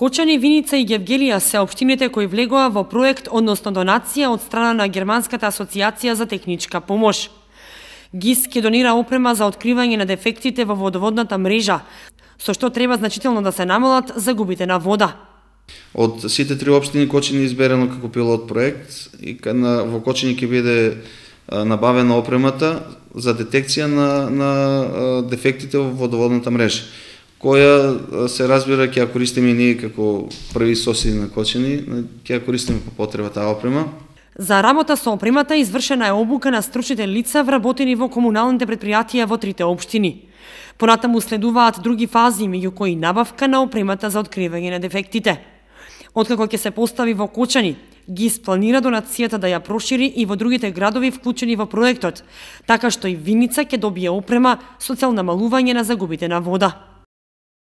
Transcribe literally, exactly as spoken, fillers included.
Кочани, Виница и Гевгелија се општините кои влегоа во проект, односно донација од страна на Германската асоциација за техничка помош. ГИС ќе донира опрема за откривање на дефектите во водоводната мрежа, со што треба значително да се намалат загубите на вода. Од сите три општини Кочани изберено како пилот проект и во Кочани ќе биде набавена опремата за детекција на, на дефектите во водоводната мрежа, која се разбира ќе ја користиме ние како први соседи на Кочани, ќе ја користиме по потреба таа опрема. За работа со опремата извршена е обука на стручните лица вработени во комуналните предпријатија во трите општини. Понатаму следуваат други фази, меѓу кои набавка на опремата за откривање на дефектите. Откако ќе се постави во Кочани, ГИС планира донацијата да ја прошири и во другите градови вклучени во проектот, така што и Виница ќе добие опрема со цел намалување на загубите на вода.